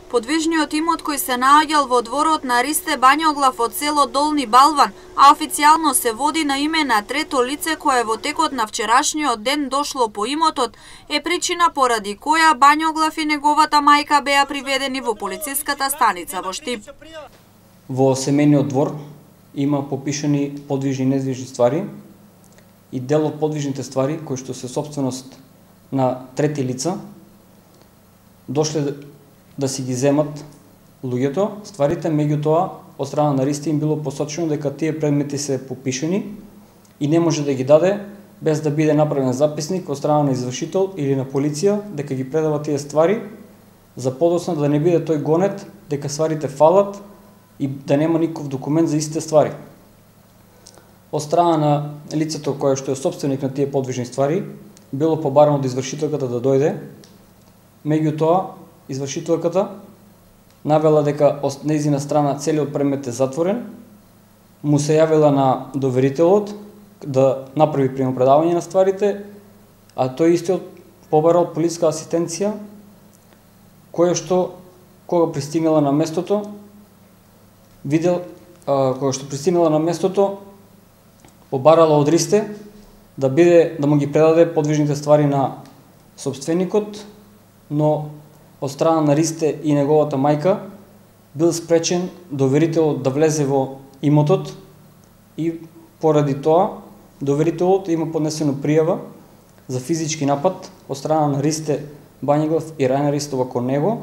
Подвижниот имот кој се наоѓал во дворот на Ристе Бањоглав од село Долни Балван, а официјално се води на име на трето лице кое во текот на вчерашниот ден дошло по имотот, е причина поради која Бањоглав и неговата мајка беа приведени во полициската станица во Штип. Во семејниот двор има попишани подвижни и недвижни ствари и дел од подвижните ствари кои што се сопственост на трети лица дошле да си ги земат луѓето стварите, меѓутоа од страна на Ристе им било посочено дека тие предмети се попишани и не може да ги даде без да биде направен записник од страна на извршител или на полиција дека ги предава тие ствари за подоцна да не биде тој гонет дека стварите фалат и да нема никаков документ за истите ствари. Од страна на лицето кое што е сопственик на тие подвижни ствари било побарано од извршителката да дојде, меѓутоа извршителката навела дека од нејзина страна целиот предмет е затворен, му се јавила на доверителот да направи примопредавање на стварите, а тој истиот побарал полиска асистенција, која што кога пристигнала на местото, побарала од Ристе да му ги предаде подвижните ствари на сопственикот, но од страна на Ристе и неговата мајка бил спречен доверителот да влезе во имотот и поради тоа доверителот има поднесено пријава за физички напад од страна на Ристе Бањоглав и Рајна Ристова кон него.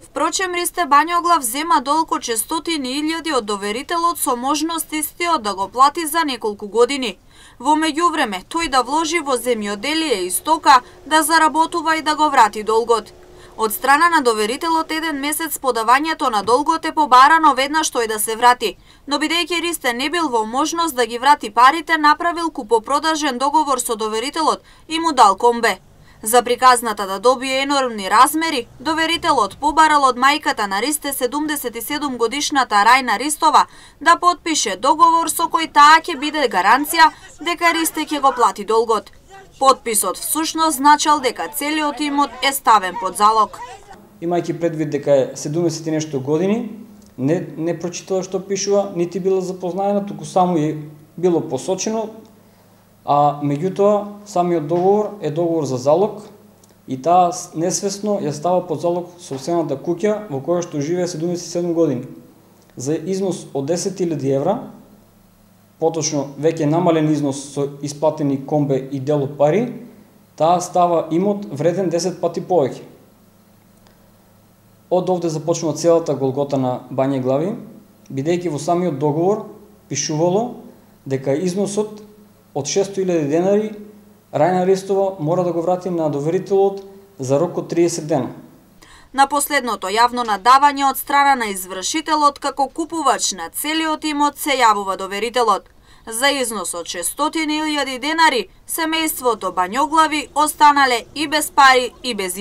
Впрочем, Ристе Бањоглав зема долг од 100.000 од доверителот со можност истиот да го плати за неколку години. Во меѓувреме, тој да вложи во земјоделие и стока, да заработува и да го врати долгот. Од страна на доверителот еден месец по давањето на долгот е побарано веднаш тој да се врати, но бидејќи Ристе не бил во можност да ги врати парите, направил купопродажен договор со доверителот и му дал комбе. За приказната да добие енормни размери, доверителот побарал од мајката на Ристе 77 годишната Рајна Ристова да потпише договор со кој таа ќе биде гаранција дека Ристе ќе го плати долгот. Потписот всушност значал дека целиот имот е ставен под залог. Имајќи предвид дека е 70 и нешто години, не прочитала што пишува, нити била запознаена, туку само е било посочено, а меѓутоа самиот договор е договор за залог и таа несвесно ја става под залог сопствената куќа во која што живее 77 години. За износ од 10.000 евра, поточно веќе намален износ со исплатени комбе и дел од пари, таа става имот вреден 10 пати повеќе. Од овде започнува целата голгота на Бањоглави, бидејќи во самиот договор пишувало дека износот од 600.000 денари Рајна Ристова мора да го врати на доверителот за рок од 30 дена. На последното јавно надавање од страна на извршителот како купувач на целиот имот се јавува доверителот. За износ од 600.000 денари семејството Бањоглави останале и без пари и без